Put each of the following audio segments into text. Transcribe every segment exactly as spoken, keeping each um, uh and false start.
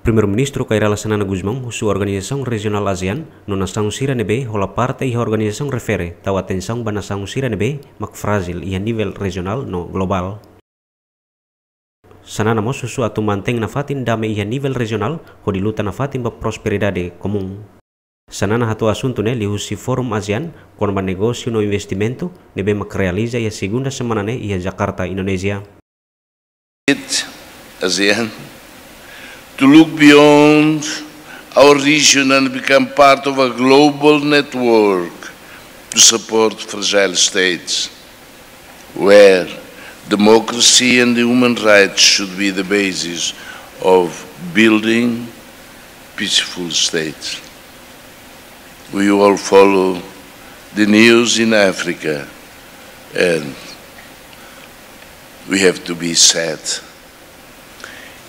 Primeiru-Ministru Kay Rala Xanana Gusmão husu organizasaun rejionál ASEAN no nasaun sira ne'ebé hola parte iha organizasaun refere tau atensaun ba nasaun sira ne'ebé mak frájil iha nivel rejionál no globál. Xanana mós husu atu mantein nafatin dame iha nivel rejionál hodi luta nafatin ba prosperidade komún. Xanana hato'o asuntu ne'e liuhusi Forum ASEAN kona-ba negósiu no investimentu ne'ebé mak realiza iha segunda semana ne'e iha Jakarta, Indonézia. It, ASEAN, to look beyond our region and become part of a global network to support fragile states, where democracy and human rights should be the basis of building peaceful states. We all follow the news in Africa, and we have to be sad.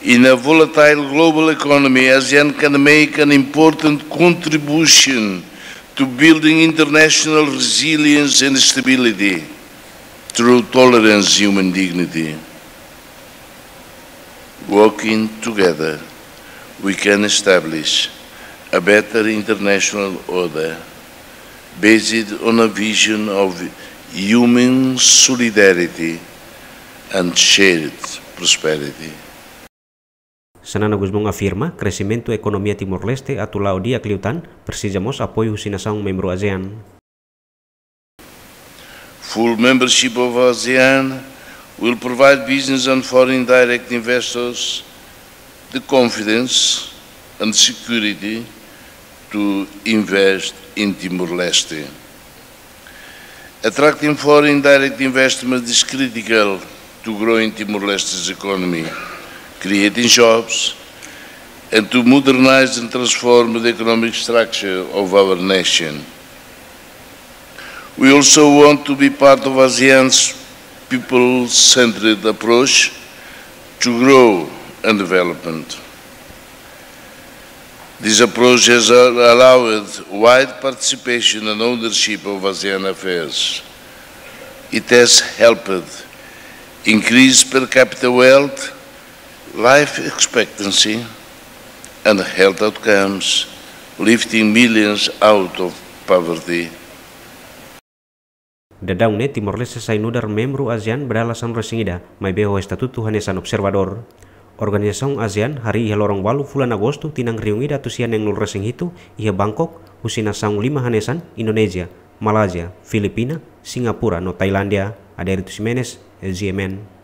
In a volatile global economy, ASEAN can make an important contribution to building international resilience and stability through tolerance, human dignity. Working together, we can establish a better international order based on a vision of human solidarity and shared prosperity. Xanana Gusmão afirma, kresimentu ekonomia Timor-Leste atu la'o di'ak liután, presiza mós apoiu husi nasaun membru ASEAN. Full membership of ASEAN will provide business and foreign direct investors the confidence and security to invest in Timor-Leste. Attracting foreign direct investment is critical to growing Timor-Leste's economy, creating jobs, and to modernize and transform the economic structure of our nation. We also want to be part of ASEAN's people-centered approach to growth and development. This approach has al-, allowed wide participation and ownership of ASEAN affairs. It has helped increase per capita wealth, life expectancy, and health outcomes, lifting millions out of poverty. Daudaun ne'e Timor-Leste sai nu'udar membru ASEAN ba dala sanulu-resin-ida, maibé ho estatutu hanesan observadór. Organizasaun ASEAN harii iha loron ualu fulan Agostu tinan rihun ida atus sia neenulu-resin-hitu iha Bangkok, husi nasaun lima hanesan, Indonézia, Malázia, Filipina, Singapura no Tailándia. Adérito Ximenes, GMN.